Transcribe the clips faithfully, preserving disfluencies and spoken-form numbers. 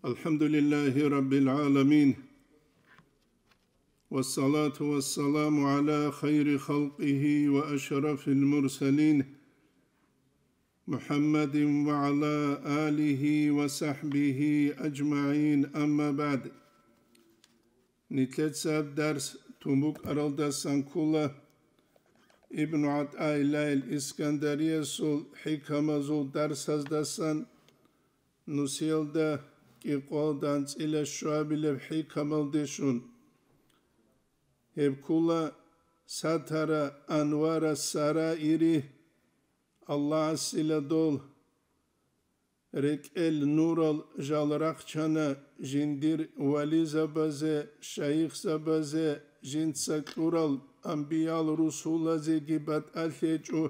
الحمد لله رب العالمين، والصلاة والسلام على خير خلقه وأشرف المرسلين، محمد وعلى آله وصحبه أجمعين، أما بعد. Нилъеца дарс тун букӀаралдасан ккола Ибну ГӀатӀаиллагьил Искандариясул хӀикамазул дарсаздасан, нусиялда кӀикъоялда анцӀила щуабилеб хӀикамалде щун. Гьеб ккола Сатара анвара сараири, Аллагьасила дол рекӀел нурал жал рахчана жиндир вализабазе, шайихзабазе, жинца кьурал анбиял-русулазеги батӀалъи гьечӀо,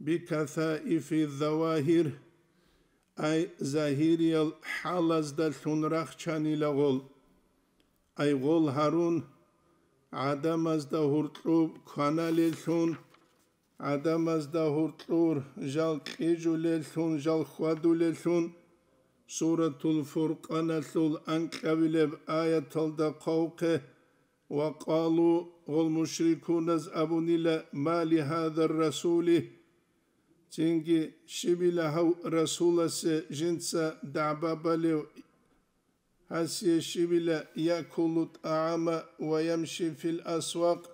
бикасаифи завагьир, ай загьириял хӀалаздалъун рахчанила гъол. Ай гъол гьарун, гӀадамазда гьуркьуб кваналеллъун, гӀадамазда гьуркьур жал кьижулеллъун, жал хьвадулеллъун, Суратул Фуркъаналъул анкьабилеб аяталда хъвахъе: «Ва къалу», гъол мушрикуназ абунила: «Ма ли гьадар расули?» Цинги: «Щибила гьав расуласе жинца дагӀба балев? Гьасие щибила якулу тӀагӀама ва ямши фил асвакъ,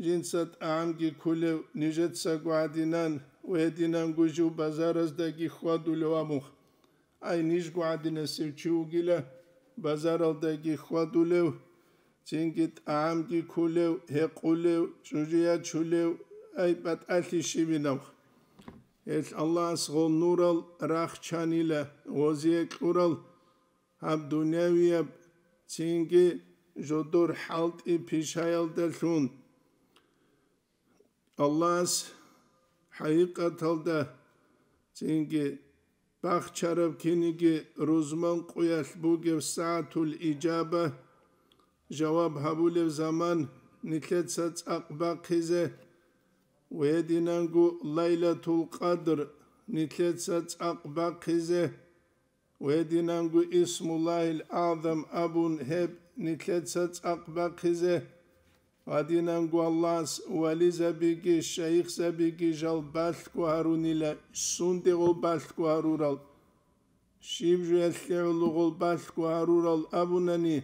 жинца тӀагӀамги кколев, нижецаго гӀадинан ва гьединанго жив базараздаги хьвадулев абун? Ай, нижго гӀадинасев чи вугила, базаралдаги хьвадулев, цинги тӀагӀамги кколев, гьекъулев, чӀужу ячулев, ай, батӀалъи щибинав?» Гьелъ Аллагьас гъол нурал рахчанила, гъозие кьурал гьаб дунявияб, цинги жодор хӀалтӀи-пишаялдалъун. Аллагьас хӀакъикъаталда цинги бахчараб киниги рузман къуялъ бугеб сагӀатул ижаба, жаваб гьабулев заман, нилъеца цӀакъ бахъизе, ва гьединанго Лайлатул Къадр, нилъеца цӀакъ бахъизе, ва гьединанго Исмуллагьил АгӀзам абун гьеб нилъеца цӀакъ бахъизе, гьединанго Аллагьас вализабиги шайихзабиги жал балъго гьарунила, сунде гъол балъго гьарурал, щиб жоялъе гӀоло гъол балъго гьарурал абунани,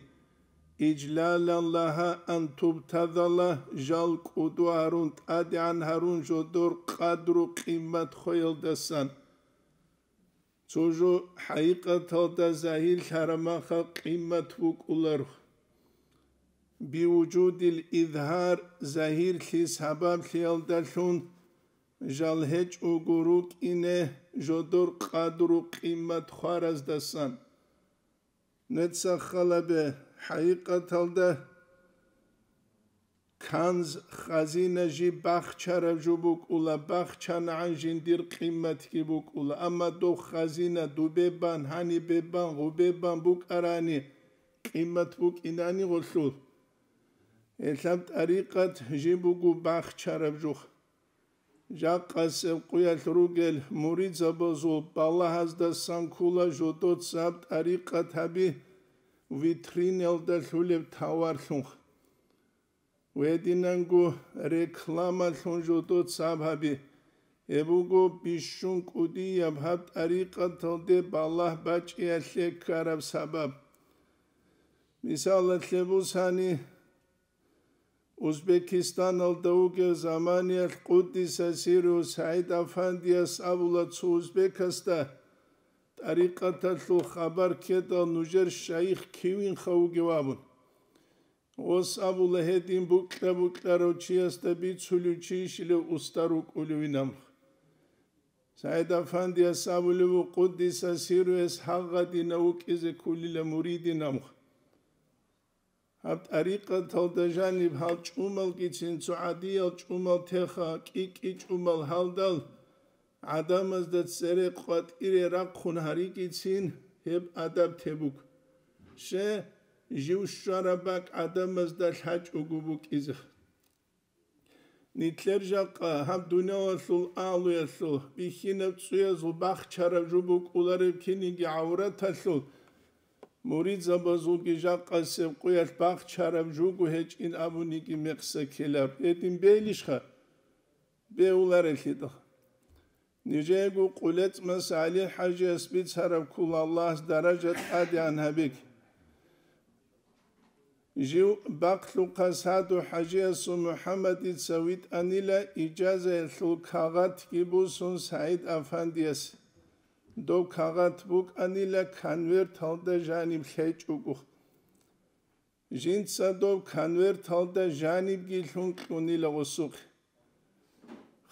ижлалан лагьа ан тубтазала, жал кӀуду гьарун, тӀадегӀан гьарун жодор къадру-къимат хвеялдасан. Цо жо хӀакъикъаталда загьирлъарамаха къимат букӀуларо. Биужудил изгьар, загьирлъи сабаблъиялдалъун жал гьечӀого рукӀине жодор къадру-къимат хвараздасан. Нецахъалабе хӀакъикъаталда Канз, хазина жиб бахчараб жо букӀула, бахчанагӀан жиндир къиматги букӀула, амма дов хазина дубе бан, гьанибе бан, гъубе бан букӀарани, къимат букӀинани гъолъул. Гьелъаб тӀарикъат жиб буго бахчараб жух. Жакъасеб къуялъ ругел муридзабазул балагьаздасан ккола жодоцаб тӀарикъат гьаби витриналда лъулеб таварлъун. Гьединанго рекламалъун жодоцаб гьаби. Гьеб буго бищун кӀудияб гьаб тӀарикъаталде балагь бачӀиялъе ккараб сабаб. Мисалалъе бусани, Узбекистаналда вугев заманиялъ къуддиса сирругьу СагӀид Афандияс абула цо узбекасда, тӀарикъаталъул хабар ккедал нужер шайих кивинха вугев абун. Гъос абула гьедин букьа-букьарав чиясда бицулев чийищилев устар вукӀулевин амх. СагӀид Афандияс абулев ву къуддиса сирругьу гьес гьагъадина вукӀизе кколила муридин амх. Гьаб тӀарикъаталда жаниб гьал чӀумалгицин цо гӀадиял чӀумал теха, кӀи-кӀи чӀумал гьалдал, гӀадамазда цере къватӀире рахъун гьаригицин гьеб адаб тебуг. Ще, жив щвараб бакӀ гӀадамазда лъачӀого букӀизе. Нилъер жакъа гьаб дуниялалъул агьлуялъул бихьинаб цӀуязул бахчараб жо букӀулареб киниги гӀавраталъул Муридзабазулги жакъасеб къуялъ бахчараб жуго гьечӀин абуниги мекъса ккелаб. Гьедин бейилищха? Беуларелъидал. Нижеего КъулецӀмас ГӀали-хӀажияс бицараб ккола, Аллагьас даража тӀадегӀан гьабеги. Жив бахълъухъа Саду хӀажиясул МухӀаммадица витӀанила ижазаялъул кагъатги бусун СагӀид-афандияс. Доб кагъат букӀанила конверталда жаниб лъечӀого. Жинца доб конверталда жанибги лъун кьунила гъосухъе.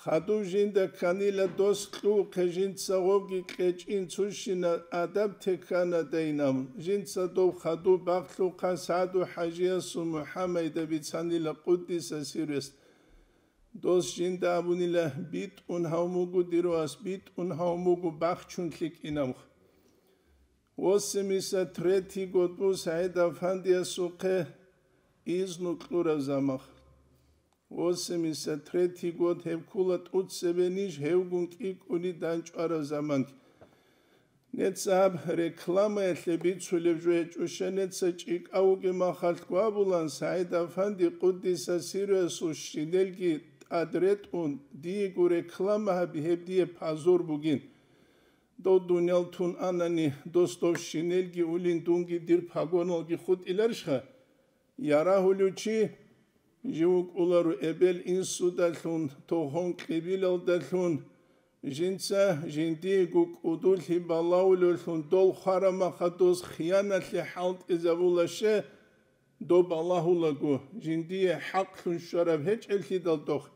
Хадуб жинда кканила дос кьухъе, жинца гъобги кьечӀин цущина адаб теккана дайнаб. Жинца доб хадуб бахълъухъа Саду хӀажиясул МухӀаммайда бицанила къуддиса сиррес. Дос жинда абунила: «БитӀун гьав мугу, дир вас, битӀун гьав мугу, бахчун лъикӀинавха». Восемьдесят третий год бу СагӀид-афандиясухъе изну кьураб замах. Восемьдесят третий год гьеб ккула тӀуцебе ниж гьевгун кӀикӀуни данчӀвараб заманги. Нецаб рекламаялъе бицулеб жо гьечӀуща, неца чӀикӀав вугеб махалъ гвабулан, СагӀид-афанди къуддиса сиррасул щинелги тӀад ретӀун, диего реклама гьаби, гьеб дие пазур бугин. Дов дуниял тун анани, дос дов щинелги улин, дунги дир пагоналги хутӀиларищха? Ярагьулев чи жив вукӀуларо эбел-инсудалъун, тогьон-кьибилалдалъун, жинца жиндиего кӀудулъи балагьулевлъун дол хварамаха дос хияналъе хӀалтӀизабулаще, доб балагьулаго, жиндие хӀакълъун щвараб гьечӀелъидал дохъ.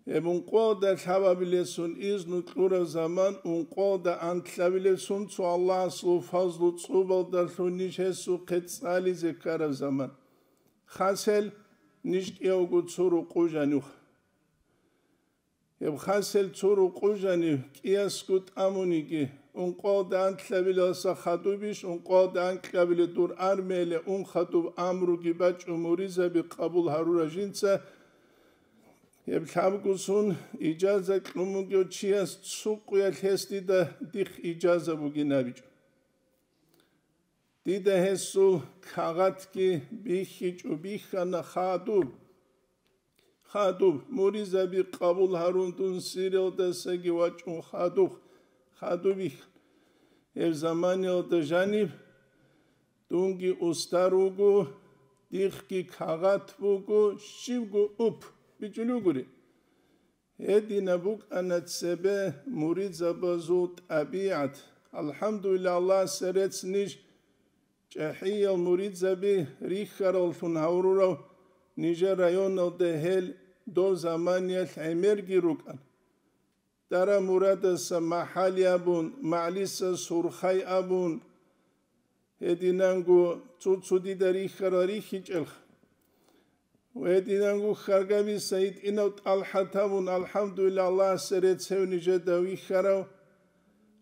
Гьеб ункъоялда лъабабилесун изну кьураб заман, ункъоялда анкьабилесун цо Аллагьасул фазлу цӀубалдалъун ниж гьесухъе цӀализе ккараб заман. Хасел ниж кӀиявго цо рукъу жанив. Гьеб хасел цо рукъу жанив кӀиясго тӀамуниги, ункъоялда анкьабилелса хадубищ, ункъоялда анкьабиле дур армияле ун хадуб амруги бачӀун муридзаби къабул гьарурав жинца, гьеб лъабгусун ижаза кьун бугев чияс цо къуялъ гьес дида дихъ ижаза бугин абичӀо. Дида гьесул кагъатги бихьичӀо, бихьана хадуб. Хадуб, муридзаби къабул гьарун дун сиралдасаги вачӀун хадуб, хадуб бихьана. Гьеб заманиялда жаниб дунги устар вуго, дихъги кагъат буго, щибго уп бичӀулев гури. Гьединаб букӀана цебе муридзабазул тӀабигӀат. АлхӀамдулиллагь, Аллагьасе рецц ниж чӀахӀиял муридзаби рихьараллъун гьавурурав нижер районалда гьел дов заманиялъ гӀемерги рукӀана. Дара Мурадаса МахӀали абун, МагӀлиса Сурхай абун, гьединанго цо-цо дида рихьарал рихьичӀелха. Гьединанго Хьаргабиса гьитӀинав ТӀалхӀат абун, алхӀамдулиллагь, Аллагьасе рецц гьев нижеда вихьарав,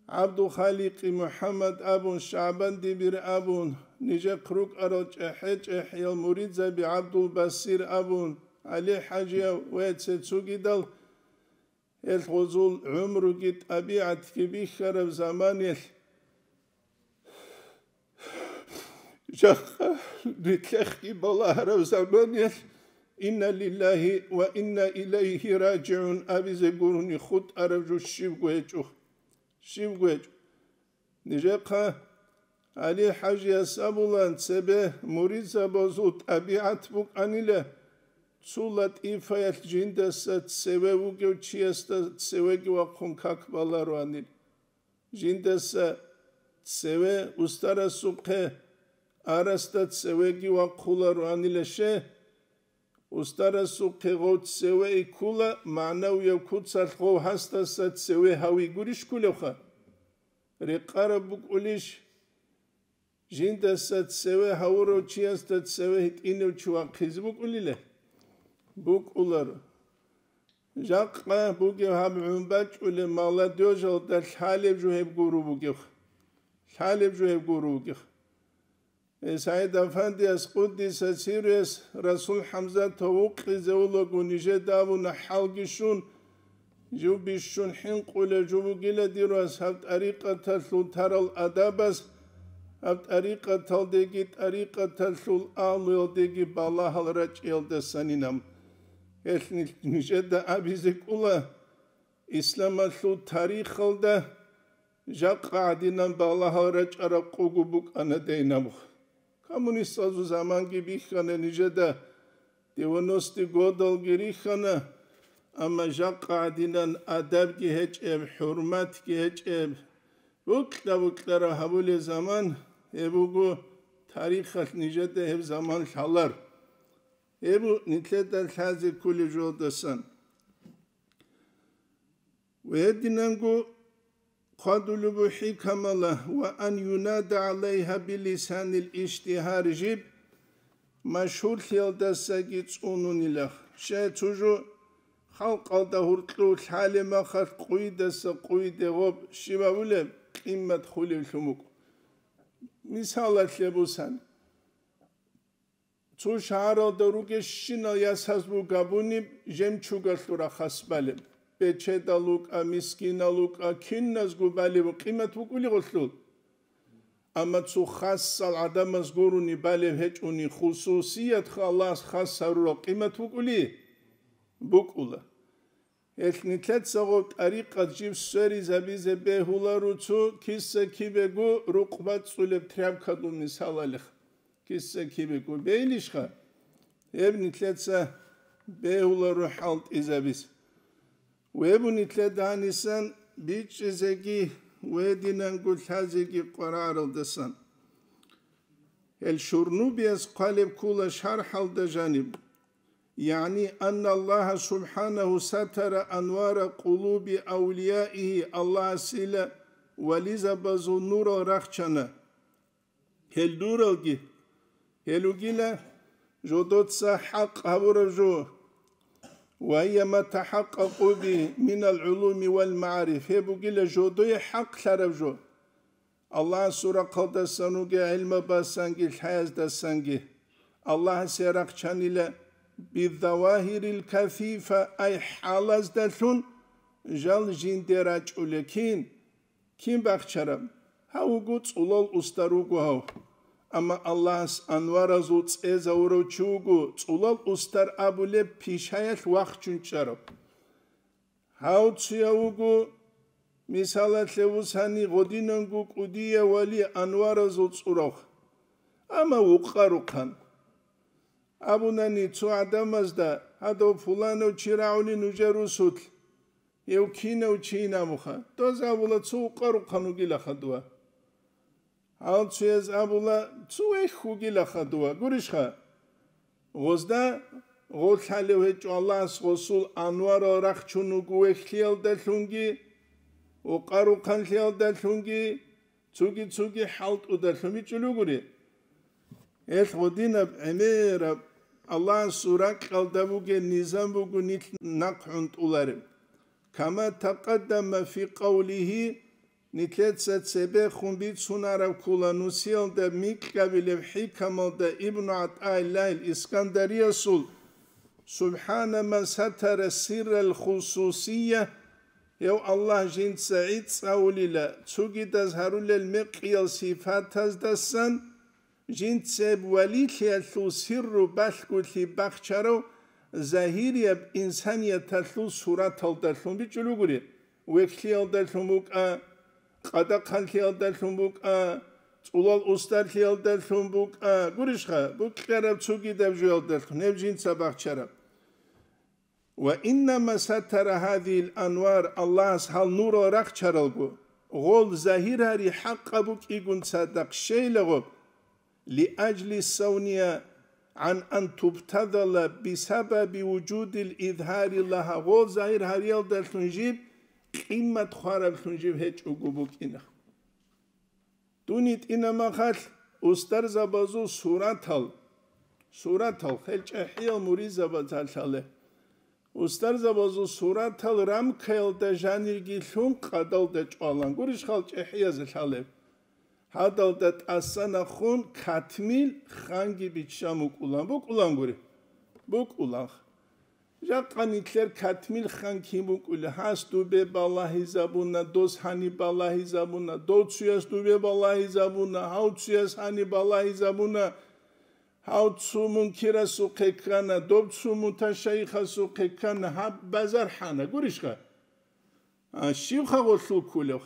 ГӀабдулхаликъи МухӀаммад абун, ШагӀбан Дибир абун, нижехъ рукӀарал чӀехӀе-чӀехӀиял муридзаби ГӀабдулбасир абун, ГӀали-хӀажияв ва цо-цогидал, гьел гъозул гӀумруги тӀабигӀатги бихьараб заманиялъ, жакъа нилъехъги балагьараб заманиялъ, «Инна лиллагьи ва инна илайгьи ражигӀун» абизе гурони хутӀараб жо щибго гьечӀо, щибго гьечӀо. Нижехъа ГӀали-хӀажияс абулан, цебе муридзабазул тӀабигӀат букӀанила, цо латӀифаялъ жиндаса цеве вугев чиясда цевеги вахъун как балароанил. Жиндаса цеве устарасухъе арасда цевеги вахъулароанила ще, устарасухъе гъов цеве иккула, магӀнавияб куцалъ гъов гьасдаса цеве гьавигурищ ккулевха? Рекъараб букӀулищ, жиндаса цеве гьавурав чиясда цеве гьитӀинав чи вахъизе букӀулила? БукӀуларо. Жакъа бугев гьаб гӀун бачӀулеб молодёжалда лъалеб жо гьеб гуро бугев. Лъалеб жо гьеб гуро бугев. Гьес СагӀид-афандияс, къуддиса сирругьу, Расул ХӀамзатов вукъизе вулаго нижеда абуна хӀалги щун, жив бищун хӀинкъулев жо бугила дир вас гьаб тӀарикъаталъул тарал адабаз, Гьаб тӀарикъаталдеги, тӀарикъаталъул агьлуялдеги балагьал рачӀиялдасанинаб. Гьелъ нил-, нижеда абизе кӀула, исламалъул тарихалда жакъа гӀадинан балагьал рачӀараб къугу букӀана дайнаб. Коммунистазул заманги бихьана нижеда, девяностые годалги рихьана, амма жакъа гӀадинан адабги гьечӀеб, хӀурматги гьечӀеб, букьа-букьараб гьабулеб заман гьеб буго, тарихалъ нижеда гьеб заман лъалар. Гьеб нилъеда лъазе кколеб жолдасан. Ва гьединанго хъвадулеб буго хӀикамала: «Ва ан юнада гӀалайгьа билисанил иштигьар», жиб машгьурлъиялдасаги цӀунунилах. Щай цо жо халкъалда гьуркьув лъалеб махалъ къуйдаса къуйде гъоб щиб абулеб къимат хулевлъун букӀо. Мисалалъе бусан. Цо шагьаралда ругещинал ясаз буго гьабуниб жемчугалъул рахас балеб. Бечедал вукӀа, мискинал вукӀа, киназго балеб къимат букӀули гъолъул. Амма цо хасал гӀадамаз гурони балеб гьечӀони, хусусиятха Аллагьас хас гьарурал къимат букӀули? БукӀула. Гьелъ нилъеца гъоб тӀарикъат жиб сверизабизе бегьуларо цо киса-кибего рукъ бацӀцӀулеб тряпкадул мисалалихъ. Киса-кибего бейилищха? Гьеб нилъеца бегьуларо хӀалтӀизабизе. Гьеб нилъеда гьанисан бичӀчӀизеги ва гьединанго лъазеги къваригӀаралдасан. Гьел Шурнубияс хъвалеб ккола шархӀалда жаниб. ЯгӀни, анна Аллагьа субхӀанагьу сатара анвара къулуби авлияигьи, Аллагьасила вализабазул нурал рахчана гьел нуралги, гьел ругила жодоца хӀакъ гьабураб жо, ва гьия ма тахӀакъкъакъу би минал гӀулуми вал магӀариф, гьеб бугила жодое хӀакълъараб жо. Аллагьасул рахъалдасан ругел гӀилмабазсанги лъаяздасанги Аллагьасе рахчанила бизавагьирил кафифа, ай хӀалаздалъун жал жинде рачӀулел кин, кин бахчараб? Гьав вуго цӀулал устар вуго гьав. Амма Аллагьас анваразул цӀезавурав чи вуго цӀулал устар абулеб пишаялъ вахчун чӀарав. Гьав цуяв вуго, мисалалъе вусани, гъодинанго кӀудияв вали анваразул цӀурав. Амма вукъа-рухъан абунани цо гӀадамазда: «Гьадав пуланав чи рагӀули нужер русулъ, гьев кинав чийин?» абуха. Доз абула: «Цо вукъа-рухъан вугилаха дова». Гьал цояз абула: «Цо вехь вугилаха дова». Гурищха? Гъозда гъолъалев гьечӀо Аллагьас гъосул анварал рахчун вуго вехьлъиялдалъунги, вукъа-рухъанлъиялдалъунги, цоги-цоги хӀалтӀудалъун бичӀчӀулев гури. Гьелъ гъодинаб гӀемераб Аллагьасул ракьалда бугеб низам буго нилъ нахъ гӀунтӀулареб. Кама такъаддама фи къавлигьи, нилъеца цебехун бицунараб ккола нусиялда микьабилеб хӀикамалда Ибну ГӀатӀаиллагьил Искандариясул: «СубхӀана ман сатара сиррал хусусия», гьев Аллагь жинца гӀицӀ авулила цогидаз гьарулел мекъиял сифатаздасан, жинцеб валилъиялъул сирру балъголъи бахчарав загьирияб инсанияталъул сураталдалъун бичӀчӀулев гури, вехьлъиялдалъун букӀа, къадахъанлъиялдалъун букӀа, цӀулал устарлъиялдалъун букӀа, гурищха, букьараб цогидаб жоялдалъун гьеб жинца бахчараб. Ва иннама сатара гьадил анвар, Аллагьас гьал нурал рахчаралго, гъол загьир гьари хӀакъаб букӀигун цадахъ щейлаго, лиажли савния гӀан ан тубтадала бисабаби вужудил изгьари лагьа, гъол загьир гьариялдалъун жиб къимат хвараблъун жиб гьечӀого букӀина. Дун йитӀинаб махалъ устарзабазул суратал, суратал, хел чӀехӀиял муризабазалъале. Устарзабазул суратал рамкаялда жанирги лъун къадалда чӀвалан гурищ хал чӀехӀиязалъалеб. Гьадалда тӀасанахун катмил ханги биччан букӀулан, букӀулан гури. БукӀулан. Жакъа нилъер Катмил хан кин букӀула, гьас дубе балагьизабуна, дос гьаниб балагьизабуна, дов цуяс дубе балагьизабуна, гьав цуяс гьаниб балагьизабуна, гьав цу мункирасухъе ккана, дов цу муташайихасухъе ккана, гьаб базар хӀана, гурищха? А, щивха гъолъул ккулев?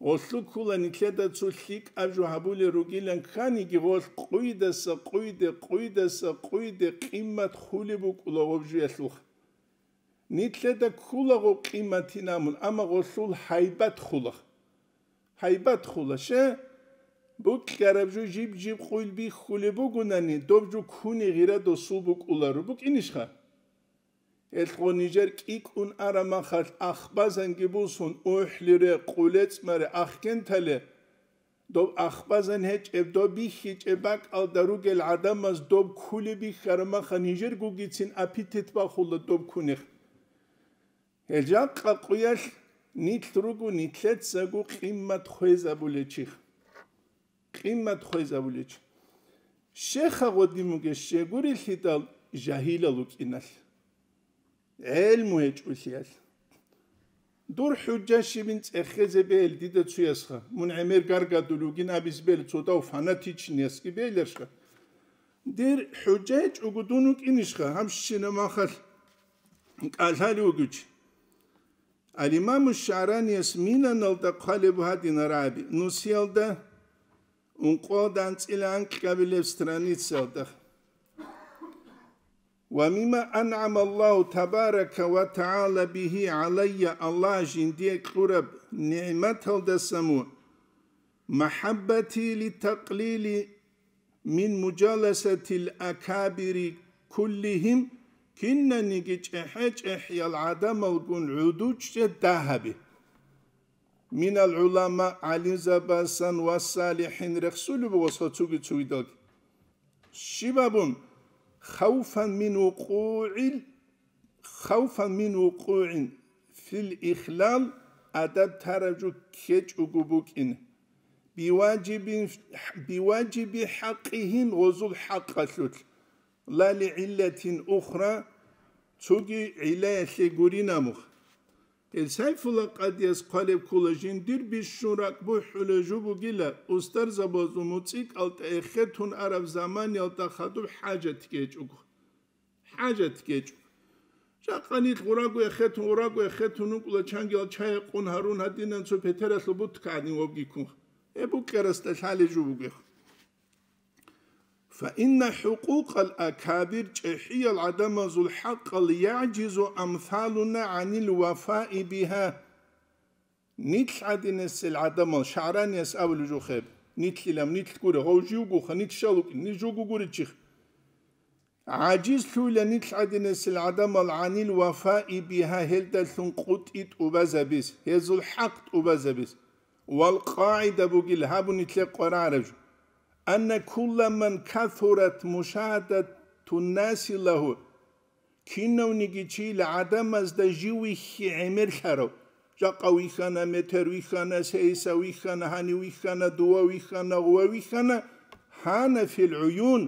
Гъолъул ккула нилъеда цо лъикӀаб жо гьабулел ругилан кканиги, гъолъ къуйдаса къуйде, къуйдаса къуйде къиммат хулеб букӀула гъоб жуялъулха. Нилъеда ккула гъоб къимматин абун, амма гъолъул гьайбат хула. Гьайбат хула, ще? Букьараб жо жиб-жиб къуйл бихьулеб бугунани, доб жо ккуне гъира досул букӀуларо, букӀинищха? Гьелъго нижер кӀикӀкӀун араб махалъ ахбазанги бусун, ухӀлире, къулецӀмаре, ахгентале, доб ахбазан гьечӀеб, доб бихьичӀеб бакӀалда ругел гӀадамаз доб ккулеб бихьараб махалъ нижергогицин аппетит бахула доб ккунехъ. Гьел жакъа къуялъ нилъ руго нилъецаго къиммат хвезабулел чихъ. Къиммат хвезабулел чи. Щеха гъодин бугес щегурелъидал жагьилал вукӀиналъ, гӀелму гьечӀолъиялъ. Дур хӀужа щибин цӀехезе бел дида цуясха, мун гӀемер гаргадулев вугин абиз бел цодав фанатичниясги беларшха. Дир хӀужа гьечӀого дун вукӀинищха, гьабщина махалъ кӀалъалев вугев чи. Ал-Имаму ШагӀранияс Минаналда хъвалеб гьадинал рагӀаби, нусиялда, ункъоялда анцӀила анкьабилеб страницаялда: «Ва мимма ан'ама Аллагьу табарака ва тагӀала бигьи гӀалайя», Аллагь жиндие кьураб нигӀматалдаса мун, «махӀаббати литакълили мин мужаласатил акабири куллигьим», кинаниги чӀехӀе-чӀехӀиял гӀадамалгун гӀодов чӀезе дагьаби. Минал гӀулама, гӀалимзабазасан ва салихӀин рехсулеб буго цоги-цогидалги. Щиб абун, хавфан мин вукъугӀил, хавфан мин вукъугӀин фил ихлал, адаб тараб жо ккечӀого букӀин, биважибин, биважиби хӀакъигьим, гъозул хӀакъалъулъ, ла лигӀиллатин ухра, цоги гӀиллаялъе гурин абун. Гьел Сайфулла къадияс хъвалеб ккола, жиндир бищун ракӀ бухӀулеб жо бугила, устарзабазул муцӀикӀалда эхетун араб заманиялда хадуб хӀажат гьечӀого. ХӀажат гьечӀо. Жакъа нилъ гъураго эхетун, гъураго эхетун вукӀула, чангиял чай гьекъун гьарун гьадинан цо петералъул бутка гӀадин вабги ккун. Гьеб букӀарасда лъалеб жо бугех. Фа инна хӀукъукъал акабир, чӀехӀиял гӀадамазул хӀакъал, яжизу амсалуна гӀанил вафаи бигьа. Нилъ гӀадинасел гӀадамал, ШагӀранияс абулеб жо хеб, нилъилан, нилъ гуре, гъов живгоха, нилъ щал вукӀин, нилъ жого гуричихъ. ГӀажизлъуйила нилъ гӀадинасел гӀадамал гӀанил вафаи бигьа, гьелдалъун къутӀи тӀубазабиз, гьезул хӀакъ тӀубазабиз. Вал къагӀида бугила гьаб нилъее къваригӀараб жо: анна кулла ман касурат мушагьадатуннаси лагьу, кинавниги чиял гӀадамазда жив вихьи гӀемерлъарав, жакъа вихьана, метер вихьана, сейса вихьана, гьанив вихьана, дува вихьана, гъува вихьана, гьана фил гӀуюн,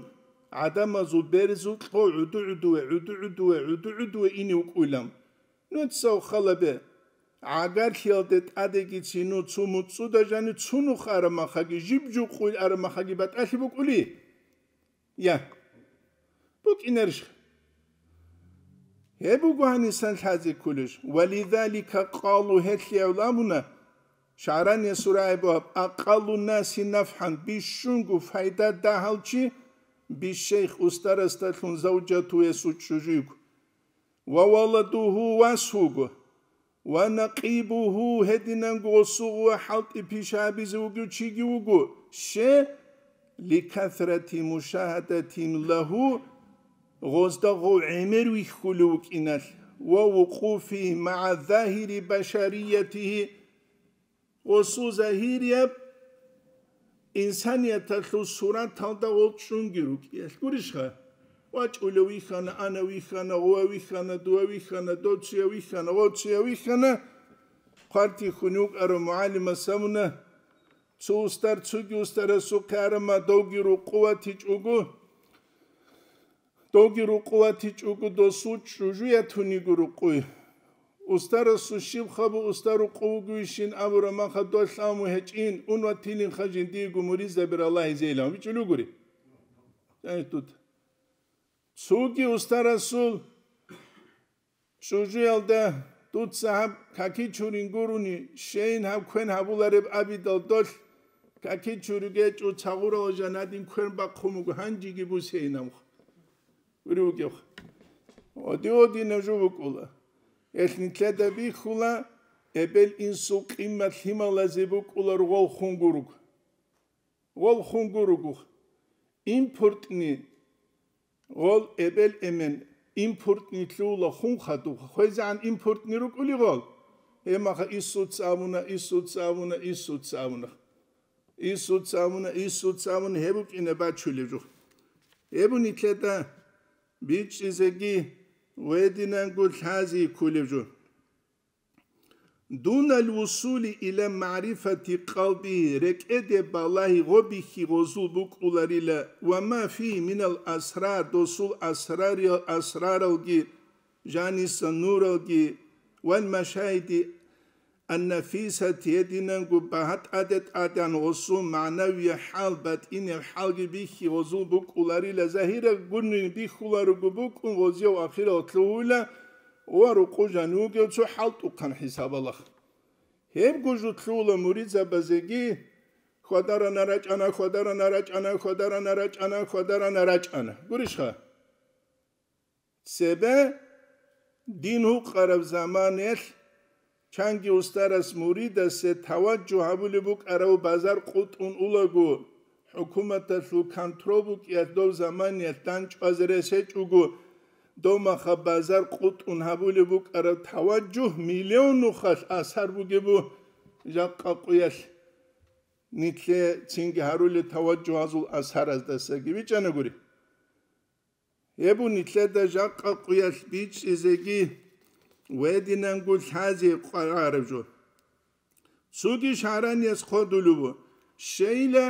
гӀадамазул берзукьа гӀуду-гӀудуве, гӀуду-гӀудуве, гӀуду-гӀудуве ине вукӀуйилан. Нуца халабе, гӀагарлъиялде тӀадегицин цо муцӀуда жанив цунухъ араб махаги, жиб-жуб къуйл араб махаги батӀалъи букӀули? Я. БукӀинарищ? Гьеб буго гьанисан лъазе кколеб. Ва лизалика къалу, гьелъие гӀоло абуна, ШагӀранияс рагӀи бугеб, акъаллу наси нафгӀан, бищунго пайда дагьав чи, бишейх устарасдалъун завжатуясул чӀужуйго. Ва валадугьу, вас вуго. Ва накъибугьу, гьединанго гъосул гъува хӀалтӀи пиша гьабизе вугев чиги вуго, ще, ликасрати мушагьадатин лагьу, гъозда гъов гӀемер вихьулев вукӀиналъ, ва вукъуфи магӀа загьири башариятигьи, гъосул загьирияб инсанияталъул сураталда гъол чӀунги рукӀиялъ гурищха? ВачӀулев вихьана, ана вихьана, гъува вихьана, дува вихьана, доцуя вихьана, гъоцуя вихьана, хъвартихьун вукӀарав мугӀалимас абуна, цо устар цоги устарасухъе арама довги рукъуватичӀого, Доги рукъу ватичӀого досул чӀужу ятун йиго рукъуй. Устарасул щиб хабу уста рукъу вугевищин абураб маха долъ аму гьечӀин, ун ватилинха жиндиего муридзаби раллагьизейилан бичӀчӀулугури. Цоги устарасул чӀужуялда дуца гьаб каки чурин гурони, щейин гьаб квен гьабулареб абидал долъ, каки чуриги гьечӀо, цагъурал жанадин квен бахъун буго, гьанжеги бусейин гьаб. Гури вугев. Оди-оди нажу букӀула. Гьелъ нилъеда бихьула, эбел-инсул къимат лъималазе букӀула ругъал хун гурого. Гъол хун гуругух. Импортни, гъол эбел-эмен, импортни лъугьула хун хадуб. ХвезегӀан импортни рукӀули гъол. Гьебмаха Иисуца абуна, Иисуца абуна, Иисуца абуна. Иисуца абуна, Иисуца абуна, гьеб букӀине бачулеб жо. Гьеб нилъеда бичӀчӀизеги гъвединанго лъази кколеб жо. Дуналь вусули иля маърифати къалби, рекӀеде балагьи гъобихьи гъозул букӀуларила, ва ма фи минал асрар, досул асрариял-, асраралги, жаниса нуралги, вал машаиди аннафисати, гьединанго багьа тӀаде-тӀадегӀан гъосул магӀнавияб хӀал, батӀинеб хӀалги бихьи гъозул букӀуларила, загьираб гурони бихьуларого букӀун гъозияв ахирал лъугьула, ва рукъу жанив вугев цо хӀалтӀухъан хӀисабалахъ. Гьебго жо лъугьула муридзабазеги, хвадарана рачӀана, хвадарана рачӀана, хвадарана рачӀана, хвадарана рачӀана. Гурищха? Цебе дин гьукъараб заманаялъ чанги устарас муридасе таваджугь гьабулеб букӀарав базар къутӀун улаго, хӀукуматалъул контрол букӀиялъ дов заманиялъ данчӀвазе рес гьечӀого, дов маха базар къутӀун гьабулеб букӀараб таваджугь миллион нухалъ асар бугебу жакъа къуялъ нилъе цинги гьарулел таваджугьазул асараздасаги бичӀчӀанагури. Гьеб нилъеда жакъа къуялъ бичӀчӀизеги гъвединанго лъазе къваригӀараб жо. Цоги шагьранияс хъодулев ву, щейила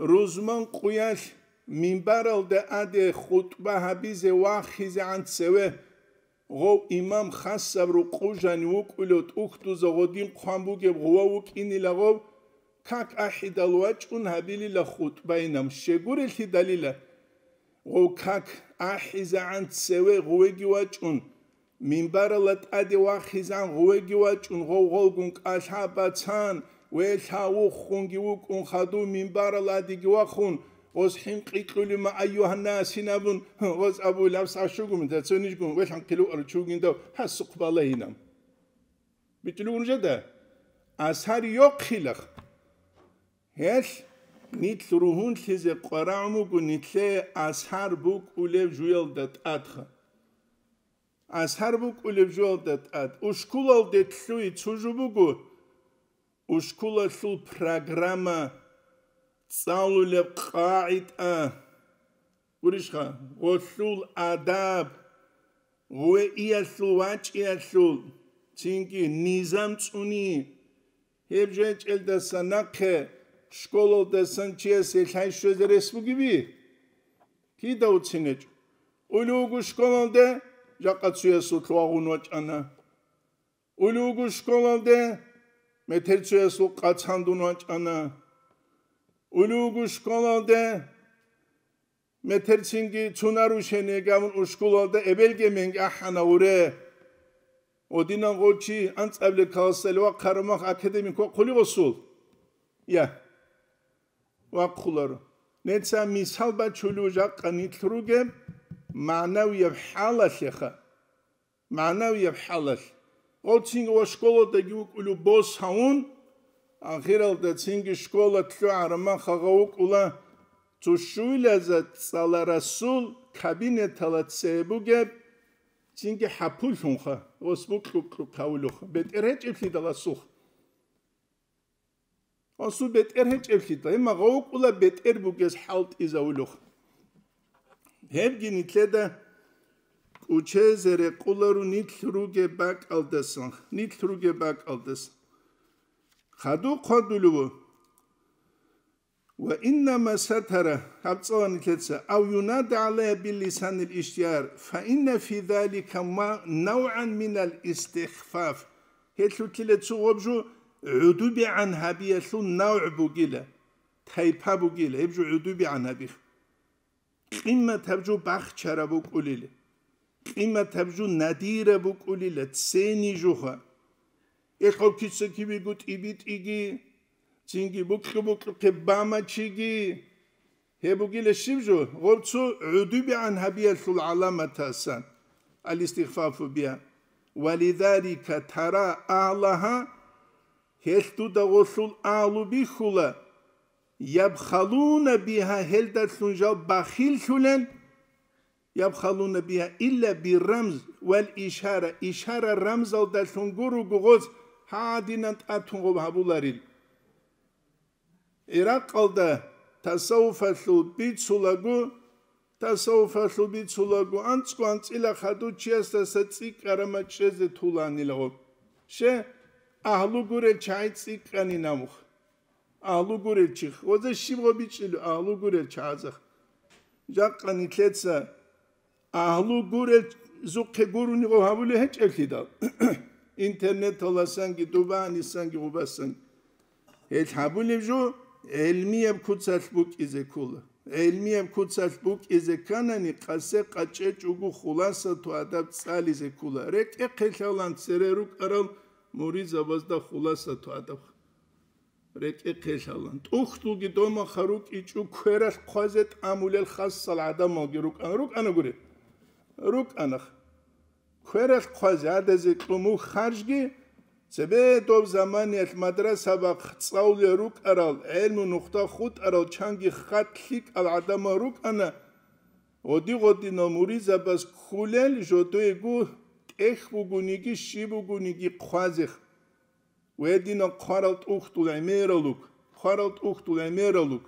рузман къуялъ минбаралда аде хутӀба гьабизе вахизегӀан цеве, гъов имам хасаб рукъу жанив вукӀулев тӀухьдуза гъодин хъван бугеб гъува вукӀинила гъов, как ахӀидал вачӀун гьабилила хутӀбайинаб, щегурелъидалила. Гъов как ахӀизегӀан цеве гъувеги вачӀун, минбарала тӀаде вахизан гъувеги вачӀун, гъов гъолгун кӀалъа бацан, велъа вуххунги вукӀун хадув минбарала тӀадеги вахун, гъос хӀинкъи кьулима, айюгьаннас гьинабун, гъос абулеб сагӀат щугун, дацунижгун, велъан хъилуару чугиндав гьасухъ балагьинаб. БитӀулев унжеда? Асар йохъилах. Гьелъ нилъ ругьунлъизе къварагӀун буго нилъее асар букӀулев жуялда тӀадха. Асар букӀулев жуялда тӀад. Ушкулалде лъугьи цо жо буго, ушкулалъул программа, цӀалулеб къагӀида, гурищха, гъолъул адаб, гъуве иялъул вачӀиялъул, цинги низам цӀуни. Гьеб жечӀелдаса нахъе школалдасан чиясе лъай щвезе рес бугеби? Кида уцинечӀо. Улев вуго школалде, жакъа цуясул лъугьагъун вачӀана. Улев вуго школалде, метер цуясул къацандун вачӀана. Улев вуго школалде, метерцинги цунар ушене гавун ушкулалда эбелги менги ахӀана гъуре. Одинан гъочи анцӀабиле каласале вахъараб мах академик вахъули гъосул? Я, вахъуларо. Неца мисал бачулев жакъа нилъ ругеб магӀнавияб хӀалалъеха. МагӀнавияб хӀалалъ. Гъов цинги ва школадаги вукӀулев бос гьавун, ахиралда цинги школа лъугӀараб махагъа вукӀула, цо щуйлаза цӀаларасул кабинетала цебе бугеб, цинги хӀапуллъунха, гъос букьукьукьавулухъ, бетӀер гьечӀеблъидаласухъ. Асул бетӀер гьечӀеблъидал, гьеб магъа вукӀула бетӀер бугес хӀалтӀизавулухъ. Гьебги нилъеда кӀучезе рекъоларо нилъ ругеб бакӀалдасан, нилъ ругеб бакӀалдасан. Хадуб хъвадулев ву. Ва иннама сатара, гьаб цӀалани лъеца, ав юнада гӀалайя биллисанил иштияр, фа инна фи залика ма-, навгӀан минал истихфаф. Гьелъулъила цо гъоб жо гӀудубигӀан гьабиялъул навгӀ бугила, тайпа бугила, гьеб жо гӀудубигӀан гьабих. Къиммат гьаб жо бахчараб букӀулила, къиммат гьаб жо надираб букӀулила, цени жуха. Эхъав кица-кибего тӀибитӀиги, цинги букьу-букьухъе бамачиги. Гьеб бугила щиб жо? Гъоб цо гӀудубигӀан гьабиялъул гӀаламатасан, алистихфафу биа. Валидалика тара агьлагьа, гьелъ дуда гъолъул агьлу бихьула, ябхалуна бигьа, гьелдалъун жал бахиллъулел, ябхалуна бигьа илла бирамз вал ишара, ишара-рамзалдалъун гуруго гъоз гьадинан тӀатун гъоб гьабуларил. ГӀиракъалда тасаввуфалъул бицулаго, тасаввуфалъул бицулаго анцӀго анцӀила хадув чиясдаса цӀикӀкӀарама чӀезе туланилаго. Ще, агьлу гурел чагӀи цӀикӀкӀани намух. Агьлу гурел чих. Гъоза щиб гъо бичӀчӀилу агьлу гурел чагӀазах? Жакъа нилъеца агьлу гурел зухъе гуруни гъо гьабулев гьечӀеблъидал. Интернеталасанги, дубанисанги, гъубасанги. Гьел гьабулеб жо гӀелмияб куцалъ букӀизе ккола. ГӀелмияб куцалъ букӀизе кканани, къасе къачӀечӀого хуласату адаб цӀализе ккола. РекӀехъе лъалан цере рукӀарал муридзабазда хуласату адаб. РекӀехъе лъалан. ТӀухьдулги домаха рукӀичӀо квералъ хъвазе тӀамулел хасал гӀадамалги рукӀана, рукӀана гури. РукӀанах. Квералъ хъвазе гьадазе кьумуг харжги, цебе доб заманиялъ мадрасабахъ цӀалулел рукӀарал, гӀелму нухда хутӀарал чанги хатӀ лъикӀал гӀадамал рукӀана, гъоди-гъодинал муридзабаз ккулел жодойгу тӀехь бугониги щиб бугониги хъвазех. Гьединал хъварал тӀухьдул гӀемералуг, хъварал тӀухьдул гӀемералуг.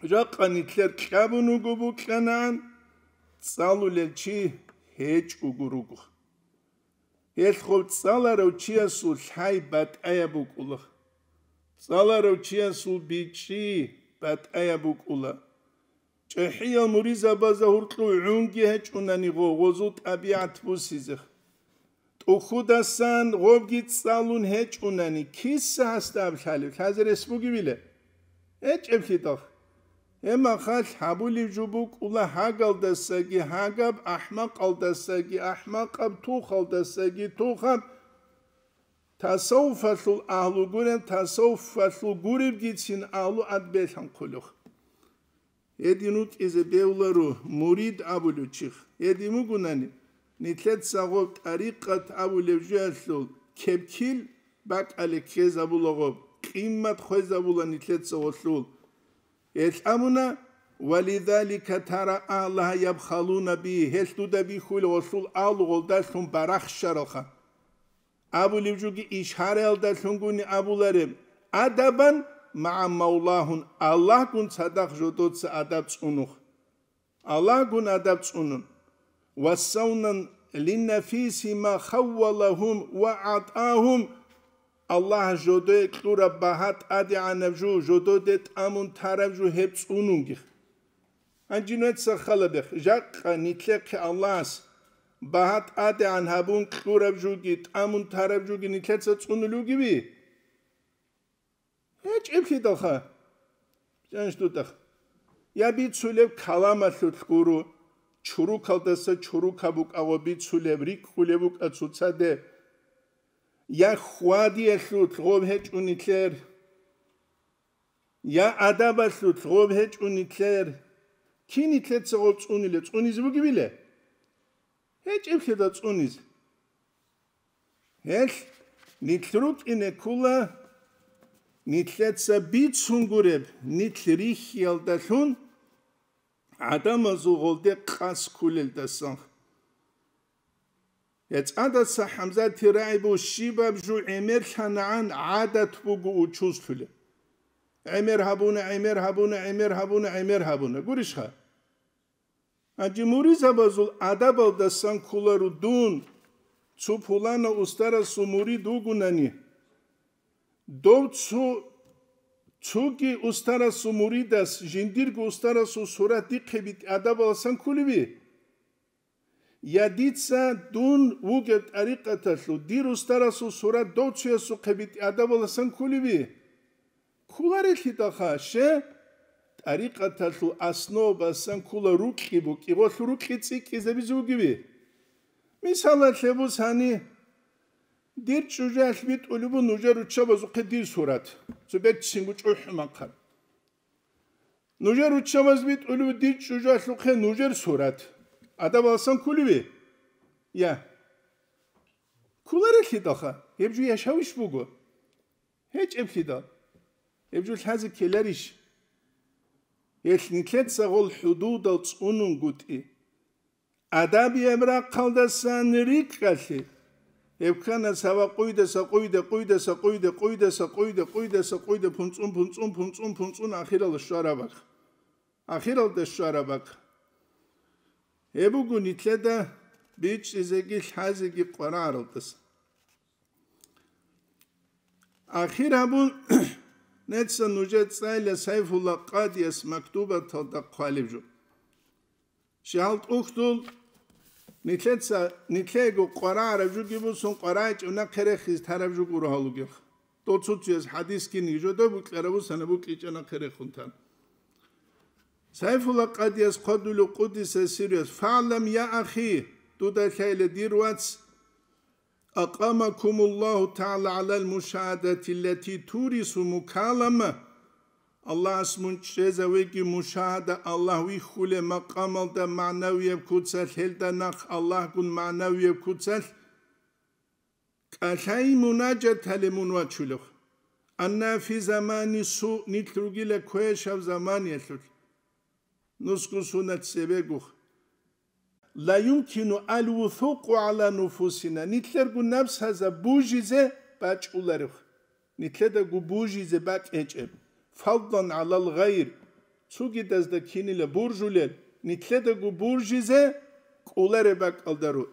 Жакъа нилъер кьабун вуго букьанаан, цӀалулел чи гьечӀого руго. Гьелъ гъов цӀаларав чиясул лъай батӀаяб букӀула. ЦӀаларав чиясул бичӀчӀи батӀаяб букӀула. ЧӀехӀиял муридзабазда гьуркьув гӀунги гьечӀунани гъо-, гъозул тӀабигӀат бусизе. ТӀухьудасан гъобги цӀалун гьечӀунани, киса гьасда аб лъалеб, лъазе рес бугебила? ГьечӀеблъидал. Гьеб махалъ гьабулеб жо букӀула гьагъалдасаги гьагаб, ахӀмакъалдасаги ахӀмакъаб, тухалдасаги тухаб. Тасаввуфалъул агьлу гуреб, тасаввуфалъул гуребгицин агьлу ад белъанхъулев. Гьедин рукӀизе бевларо мурид абулев чих. Гьедин вугунани, нилъеца гъоб тӀарикъат абулев жоялъул кепкил бакӀалде ккезабула гъоб, къиммат хвезабула нилъеца гъолъул. Гьелъ абуна, «Валидалика тара агьлагьа ябхалуна би», гьелъ дуда бихьула гъолъул агьлу гъолдалъун барахщаралха. Абулев жуги ишгьараялдалъунгуни абулареб, «Адабан магӀа мавлагьун», Аллагьгун цадахъ жодоца адаб цӀунух. Аллагьгун адаб цӀунун. «Ва савнан линнафиси ма хаввалагьум ва гӀатӀагьум», Аллагь жодое кьураб багьа тӀадегӀанаб жу, жододе тӀамун тараб жу гьеб цӀунунгих. Гьанже нугьеца халабех, жакъа нилъехъе Аллагьас багьа тӀадегӀан гьабун кьураб жуги, тӀамун тараб жуги нилъеца цӀунулев вугеви? ГьечӀеблъидалха. Жанш дутӀах. Я бицулеб каламалъулъ гуро, чурукалдаса чурукаб букӀа гъо бицулеб, рикӀкӀулеб букӀа цоцаде. Я хьвадиялъулъ гъоб гьечӀо нилъер. Я адабалъулъ гъоб гьечӀо нилъер. Кин нилъеца гъоб цӀуниле, цӀунизе бугебиле? ГьечӀеблъидал цӀунизе. Гьелъ нилъ рукӀине ккула, нилъеца бицун гуреб, нилъ рихьиялдалъун гӀадамазул гъолде къас ккулелдасан. ГьецӀадаца ХӀамзати рагӀи буго щибаб жо гӀемерлъанагӀан гӀадат буго учузлъулеб. ГӀемер гьабуна, гӀемер гьабуна, гӀемер гьабуна, гӀемер гьабуна. Гурищха? Гьанже муридзабазул адабалдасан кколаро дун, цо пуланав устарасул мурид вугунани, дов цо, Цоги устарасул муридас жиндирго устарасул сурат дихъе битӀи адабаласан кколеви? Я дица дун вугеб тӀарикъаталъул дир устарасул сурат дов цоясухъе битӀи адабаласан кколеви? Кколарелъидалха, ще, тӀарикъаталъул основабасан ккола рукьи букӀи, гъолъул рукьи цӀикӀкӀизабизе вугеви? Мисалалъе бусани, дир чӀужуялъ битӀулеб буго нужер руччабазухъе дир сурат, цо берцинго чӀухӀу махъан. Нужер руччабаз битӀулеб буго дир чӀужуялъухъе нужер сурат. Адабаласан кколеви? Я. Кколарелъидалха, гьеб жо яшавищ буго? ГьечӀеблъидал. Гьеб жо лъазе ккеларищ? Гьелъ нилъеца гъол хӀудудал цӀунунгутӀи. Адабияб рахъалдасан рикӀкӀалъе. Гьеб ккана сава къуйдаса къуйде, къуйдаса къуйде, къуйдаса къуйде, къуйдаса къуйде, пунцӀун, пунцӀун, пунцӀун, пунцӀун, ахиралда щвараб бакӀ. Ахиралда щвараб бакӀ. Гьеб буго нилъеда бичӀчӀизеги лъазеги къварагӀаралдаса. Ахир гьабун, неца нужер цӀайла Сайфулла Къадияс мактубаталда хъвалеб жо. Щай гьал тӀухьдул, нилъеца, нилъего къварагӀараб жуги бусун, къварагӀичӀеб нахъе рехиз тараб жо гуро гьалугел. Дол цо-цояс хӀадис кинги жодой букьараб бусана букӀичӀеб нахъе рехун тан. Сайфулла Къадияс хъвадулев къудиса сируяс: «ФагӀлам, я ахи», дуда лъайла, дир вац, «Акъамакумуллагьу тагӀала гӀалал мушагьадатиллати турису мукалама». Аллагьас мун чӀезавеги мушагьада, Аллагь вихьулеб макъамалда, магӀнавияб куцалъ, гьелда нахъ Аллагьгун магӀнавияб куцалъ. КӀалъай мунажат гьале мун вачулев. Анна фи замани су, нилъ ругила квешав заманиялъулъ. Нусго сунат цебегух. Ла юмкину ал вусукъу гӀала нуфусина, нилъерго напсазда бужизе бачӀуларев, нилъедаго бужизе бакӀ гьечӀеб, фаддан гӀалал гъайр, цогидазда кинила буржулел, нилъедаго буржизе кӀолареб бакӀалда ру.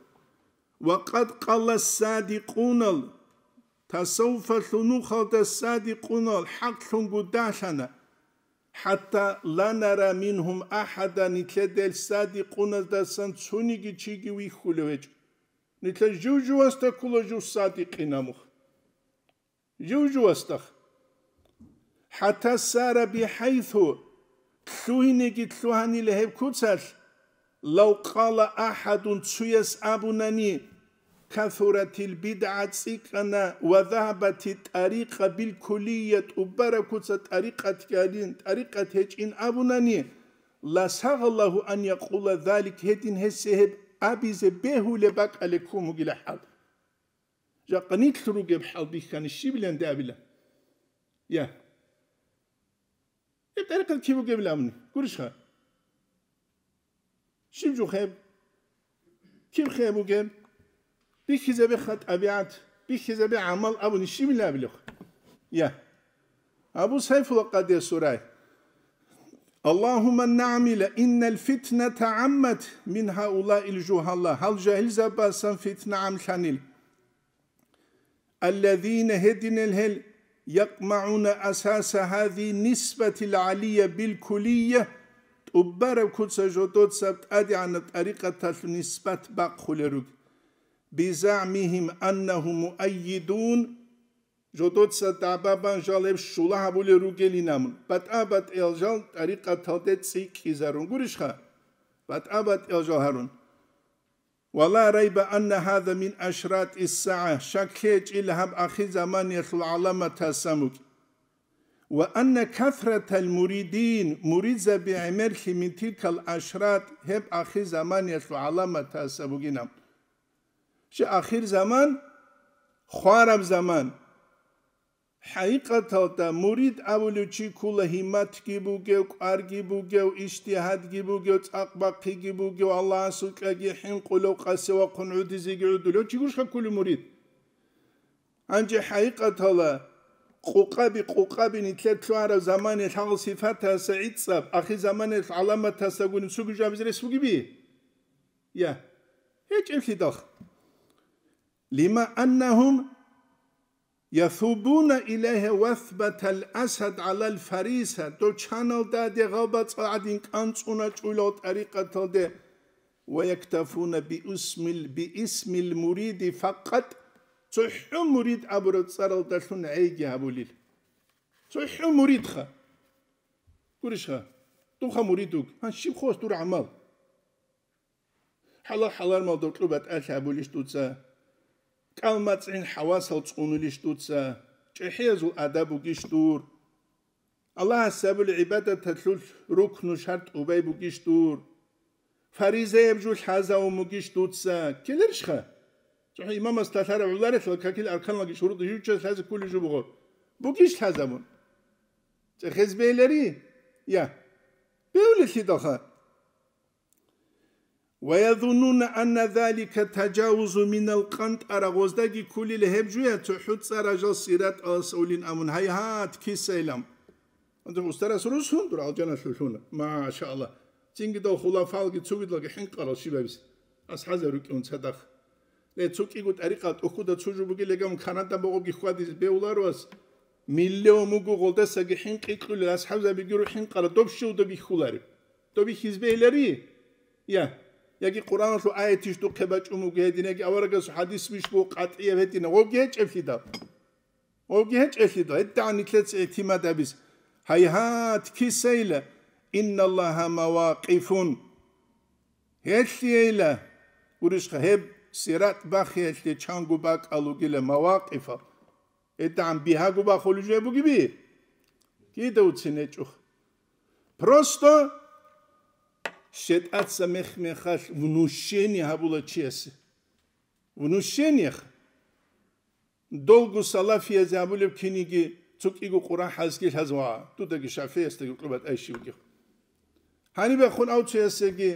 Ва къад къала садикъунал, тасаввуфалъул нухалда садикъунал хӀакълъунго далъана. ХӀатта ла нара мингьум ахӀада, нилъеда гьел садикъуназдасан цониги чиги вихьулев гьечӀо. Нилъер жив-живасда ккола жив садикъин гьамух. Жив-живасда. ХӀатта сара бихӀайсу, лъугьинеги лъугьанила гьеб куцалъ, лав къала ахӀадун, цуяс абунани, касуратил бидгӀа, цӀикӀкӀана, ва загьабати тӀарикъа билкуллия, тӀубараб куца тӀарикъат гьарин, тӀарикъат гьечӀин абунани, ла сагъаллагьу ан якъула залик, гьедин гьесие гьеб абизе бегьулеб бакӀалде ккун бугила хӀал. Жакъа нилъ ругеб хӀал бихьани щибиланде абила? Я. Гьеб тӀарикъат киб бугебилан абуни, гурищха? Щиб жо гьеб? Киб гьеб бугеб? Бихьизабеха тӀабигӀат, бихьизабе гӀамал абуни щибилан абилеб? Я. Абу Сайфула къадиясул рай. Аллагьумма нагӀмила, иннал фитната гӀаммат мин гьаулаил жугьала, гьал жагьилзабасан фитна гӀамлъанил. Аллазина, гьединал гьел, якъмагӀуна асаса гьази нисбатил гӀалия билкулия, тӀубараб куца жодоцаб тӀадегӀанаб тӀарикъаталъул нисбат бахъулел руг. БизагӀмигьим аннагьум муаййидун, жодоца дагӀба бан жал гьеб щула гьабулел ругелин абун, батӀа-батӀиял жал тӀарикъаталде цӀикӀкӀизарун гурищха? БатӀа-батӀиял жал гьарун. Ва ла райба анна гьаза мин ашратис сагӀа, щаклъи гьечӀила гьаб ахирзаманиялъул гӀаламатасан букӀин. Ва анна касратал муридин, муридзаби гӀемерлъи мин тилкал ашрат, гьеб ахирзаманиялъул гӀаламатасан бугин абун. Щай ахирзаман, хвараб заман. ХӀакъикъаталда мурид абулев чи ккола гьимматги бугев, кӀварги бугев, ижтигьадги бугев, цӀакъ бахъиги бугев, Аллагьасукьаги хӀинкъулев, къаси вахъун гӀодизеги гӀодулев чи гурищха кколев мурид? Гьанже хӀакъикъаталда къукъаби-къукъаби нилъер лъугьараб заманиялъ гьал сифатаса гӀицӀаб, ахирзаманиялъ гӀаламатасагун цоги жо абизе рес бугеби? Я, гьечӀеблъидал. Лима аннагьум Ясубуна илайха васбатал асад гӀалал фариса, дов чаналдаде гъалбацӀал гӀадин кӀанцӀуначӀулал тӀарикъаталде, ва яктафуна биисмил, биисмил муриди факъат, цохӀо мурид абураб цӀаралдалъун гӀейги гьабулел. ЦохӀо муридха. Гурищха, дунха мурид вуг, гьан щиб хос дур гӀамал? ХӀалал-хӀарамалда кьу батӀалъи гьабулищ дуца? КӀал-мацӀгӀин хӀавасал цӀунулищ дуца? ЧӀехӀиязул адаб бугищ дур? Аллагьас гьабулеб гӀибадаталъул рукну шартӀ убай бугищ дур? Фаризаяб жо лъазавун бугищ дуца? Ккеларищха? ЦохӀо имамас лъалареб гӀоларелъул какил арканалги шурутӀ жив чияс лъазе кколеб жо буго. Бугищ лъазабун? ЦӀехез бегьилари? Я. Бегьулелъидалха. Ва язуннуна анна залика тажавузу минал къантӀара, гъоздаги кколила гьеб жуя цохӀо цӀар гьал сираталас авлин абун, гьайгьат, кисайилан. Гьанже устарас русун дур алжаналъулъуна. Машалла. Цинги дол хулафалги цугидалги хӀинкъарал щибабизе. АсхӀабзаби рукӀун цадахъ. Ле, цо кӀиго тӀарикъа тӀухьуда цо жо бугел легамун Канада богъоги хьвадизе бегьуларо ас. Миллион муго гъолдасаги хӀинкъи кьулел асхӀабзабиги рухӀин къара доб щивда бихьулареб. Доб бихьизе бегьилари? Я. Яги Къуръаналъул аятищ духъе бачӀун буго гьедин, яги аварагасул хӀадис бищ буго къатӀияб гьедин, гъобги гьечӀеблъидал. Гъобги гьечӀеблъидал, гьедигӀан нилъеца игьтимад гьабиз. Гьайгьат, кисайила, инналлагьа мавакъифун. Гьелъийила, гурищха, гьеб сират бахиялъе чанго бакӀал ругила мавакъифал. ГьедигӀан бигьаго бахулеб жо бугеби? Кида уцин гьечӀоха. Просто шетӀаца мех-мехалъ внушение гьабула чиясе. Внушениеха. Долго салафиязе абулеб киниги цо кӀиго Къуръан хӀалсги лъазва, дудаги ШафигӀиясдаги кьуба тӀайщи бугев. Гьаниб яхъун авцоясеги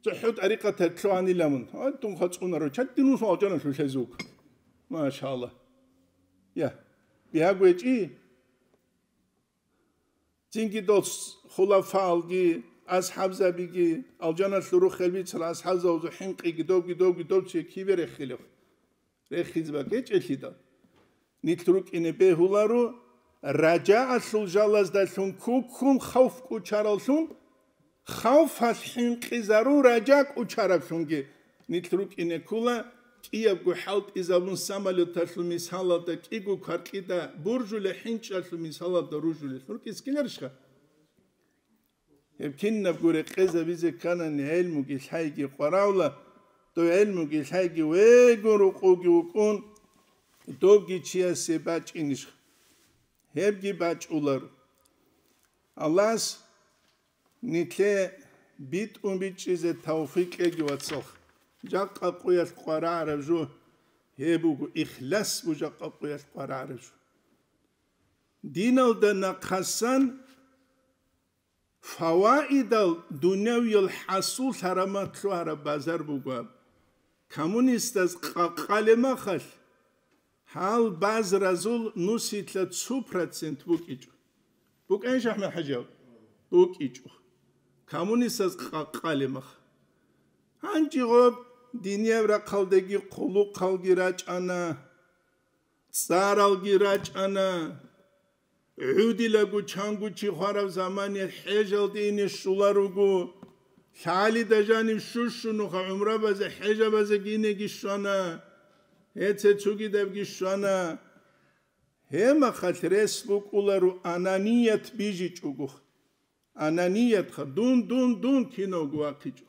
цохӀо тӀарикъаталъ лъугьанила мун. Гьай, дун хацӀунаро, чатӀи нус алжаналъулъ гьезуг. Машалла. Я, бигьаго гьечӀи. Цинги дол хулафаалги, асхӀабзабиги, алжаналъул рухел бицал асхӀабзабазул хӀинкъиги, довги, довги, дов чи кибе рехилев? Рехизе бакӀечӀелъидал. Нилъ рукӀине бегьуларо, ражаалъул жалаздалъун куккун хавф кӀучараллъун, хавфалъ хӀинкъизарун ража кӀучараблъунги. Нилъ рукӀине ккола, кӀиябго хӀалтӀизабун самолеталъул мисалалда кӀиго кваркьида буржула хӀинчӀалъул мисалалда ружулел. РукӀиз ккеларищха? Гьеб кинабго рекъезабизе кканани гӀелмуги лъайги къваравла, дов гӀелмуги лъайги вегун рукъуги вукӀун, довги чиясе бачӀинищ? Гьебги бачӀуларо. Аллагьас нилъе битӀун бичӀчӀизе тавфикъ кьеги, вацалха. Жакъа къуялъ къварагӀараб жо гьеб буго, ихлас буго жакъа къуялъ къварагӀараб жо. Диналда нахъасан фаваидал дунявиял хӀасул лъарамат лъугьараб базар буго аб. Коммунистаз къакъалеб махалъ, гьал базразул нусилъа цо процент букӀичӀо. БукӀанищ, АхӀмад-хӀажи? БукӀичӀо. Коммунистаз къакъалеб махалъ. Гьанже гъоб динияб рахъалдаги хъулухъалги рачӀана, цӀаралги рачӀана. ГӀудилаго чанго чи хвараб замане хӀежалде ине щула руго. ЛъагӀалида жанив щущунуха гӀумрабазе, хӀежабазеги инеги щвана. Гьеце цугидабги щвана. Гьеб махалъ рес букӀуларо ананият бижичӀого. Ананиятха, дун, дун, дун кинавго вахъичӀо.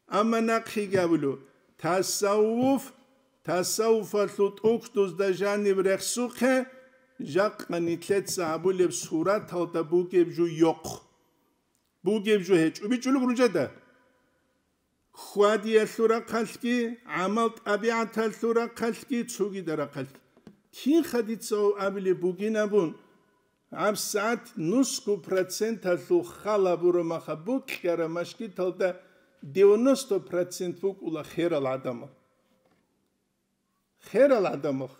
Амма нахъеги абулев, тасаввуф, тасаввуфалъул тӀухьдузда жаниб рехсухъе, жакъа нилъеца гьабулеб сураталда бугеб жо йохъ. Бугеб жо гьечӀо, бичӀчӀулеб ружада. Хьвадиялъул рахъалъги, гӀамал-тӀабигӀаталъул рахъалъги, цогида рахъалъги. Кинха дица гьав абилеб бугин абун, гьабсагӀат нусго проценталъул хал гьабура маха букьара машгиталда девяносто процент букӀула херал гӀадамал. Херал гӀадамал.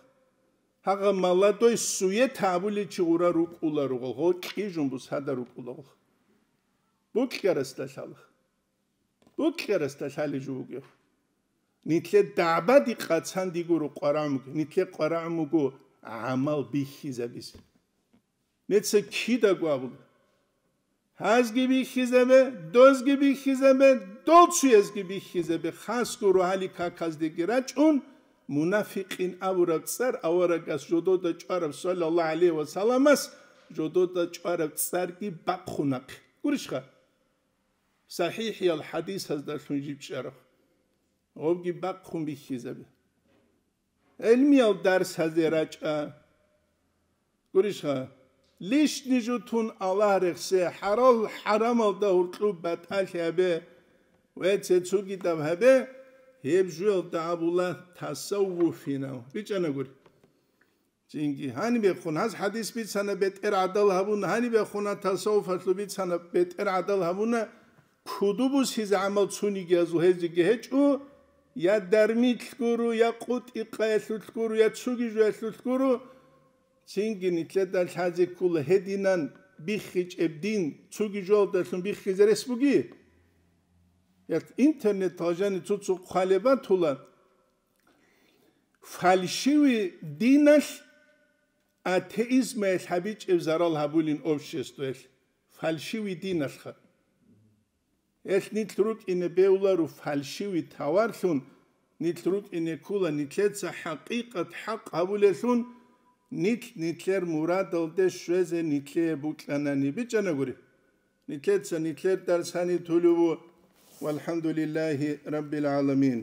Гьагъа молодой сует гьабулел чи гъура рукӀула ругъал, гъо кьижун бусада рукӀула гъо. Букьарасда лъала. Букьарасда лъалеб жо бугеб. Нилъер дагӀбаде къацан дигуро къварагӀмуги, нилъер къварагӀмуго гӀамал бихьизабизе. Нецца кидаго абула. Гьазги бихьизабе, дозги бихьизабе, дол цуязги бихьизабе, хасго рогьалил каказдеги рачӀун, мунафикъин абураб цӀар аварагас жодода чӀвараб саллаллагьу гӀалайгьи ва салламас жодода чӀвараб цӀарги бахъунахъе. Гурищха? СахӀихӀиял хӀадисаздалъун жиб чӀараб. Гъобги бахъун бихьизабе. ГӀилмиял дарсазе рачӀа. Гурищха, лишни жо тун Аллагь рехсе, хӀарал-хӀарамалда гьуркьуб батӀалъи гьабе ва цецугидаб гьабе, гьеб жуялда абула тасаввуфинав. БичӀана гури. Цинги гьанибехун гьаз хӀадис бицана, бетӀер гӀадал гьабуна, гьанибехуна тасаввуфалъул бицана, бетӀер гӀадал гьабуна, куду бусизе гӀамал цунигиязул гьезиги гьечӀо, я дармилъ гуро, я къутӀикъаялъулъ гуро, я цуги жоялъулъ гуро, цинги нилъеда лъазе ккола гьединан биххичӀеб дин, цуги жоялдалъун биххизе рес буги? Я интернеталъ жани цо-цо хъвалеб батула, фальшивый диналъ атеизмаялъ гьабичӀеб зарал гьабулин обществоялъ, фальшивый диналъха. Гьелъ нилъ рукӀине бевлару фальшивый товарлъун, нилъ рукӀине ккула нилъеца хӀакъикъат хӀакъ гьабулелъун, нилъ нилъер мурадалде щвезе нилъее букьанани. БичӀана гури. Нилъеца нилъер дарс гьаниб тулев ву. ВалхӀамдулиллагьи раббил гӀаламин.